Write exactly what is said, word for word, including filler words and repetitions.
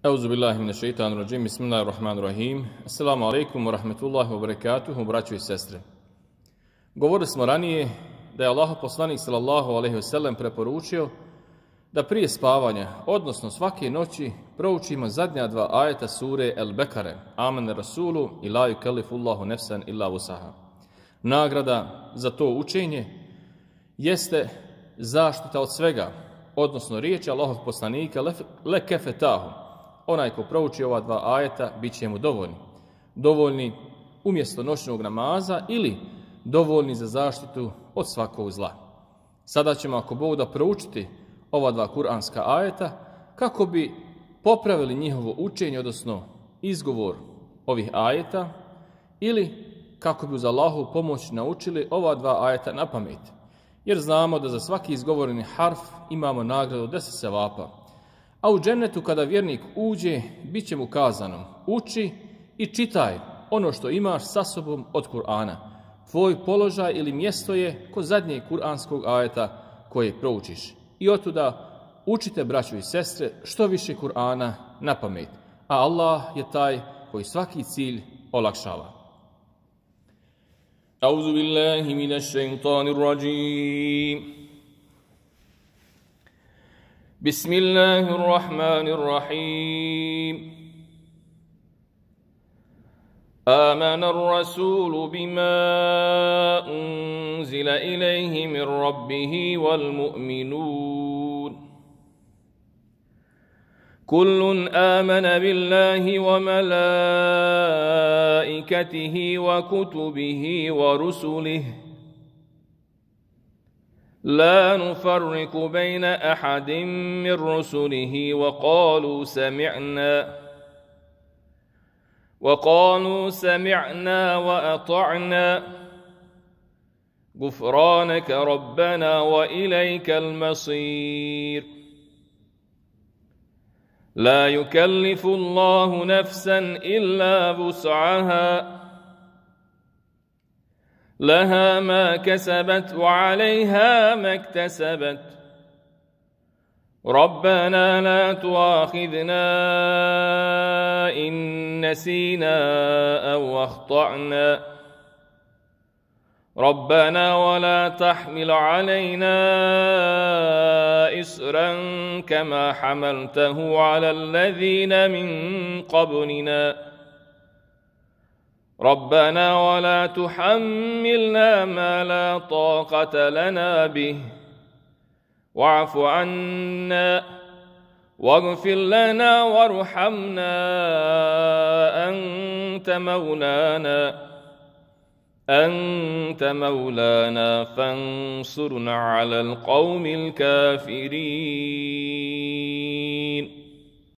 Euzu billahi mineşšeitanir-racim. Bismillahirrahmanirrahim. Assalamu alaikum wa rahmetullahi wa barakatuhu, braćo i sestre. Govorili smo ranije da je Allahov poslanik sallallahu alejhi ve sellem preporučio da prije spavanja, odnosno svake noći, proučimo zadnja dva ajeta sure El-Bekare, Amene Rasulu i la yukellifullahu nefsan illa vusaha. Nagrada za to učenje jeste zaštita od svega, odnosno riječi Allahov poslanika le kefetahu. Onaj ko prouči ova dva ajeta bit će mu dovoljni. Dovoljni umjesto noćnog namaza ili dovoljni za zaštitu od svakog zla. Sada ćemo, ako Bog da, proučiti ova dva kuranska ajeta kako bi popravili njihovo učenje, odnosno izgovor ovih ajeta, ili kako bi uz Allahovu pomoć naučili ova dva ajeta na pamet. Jer znamo da za svaki izgovoreni harf imamo nagradu deset sevapa. A u džennetu kada vjernik uđe, bit će mu kazano: uči i čitaj ono što imaš sa sobom od Kur'ana. Tvoj položaj ili mjesto je kod zadnjeg kuranskog ajeta koje proučiš. I otuda učite, braćo i sestre, što više Kur'ana na pamet. A Allah je taj koji svaki cilj olakšava. Auzu billahi mineššeitanir racim. Bismillahirrahmanirrahim. آمن الرسول بما أنزل إليه من ربه والمؤمنون كل آمن بالله وملائكته وكتبه ورسله لا نفرق بين أحد من رسله وقالوا سمعنا وقالوا سمعنا وأطعنا غفرانك ربنا وإليك المصير لا يكلف الله نفسا إلا وسعها لها ما كسبت وعليها ما اكتسبت ربنا لا تؤاخذنا إن نسينا أو أخطأنا ربنا ولا تحمل علينا إصرا كما حملته على الذين من قبلنا ربنا ولا تحملنا ما لا طاقة لنا به واعف عنا واغفر لنا وارحمنا أنت مولانا أنت مولانا فانصرنا على القوم الكافرين.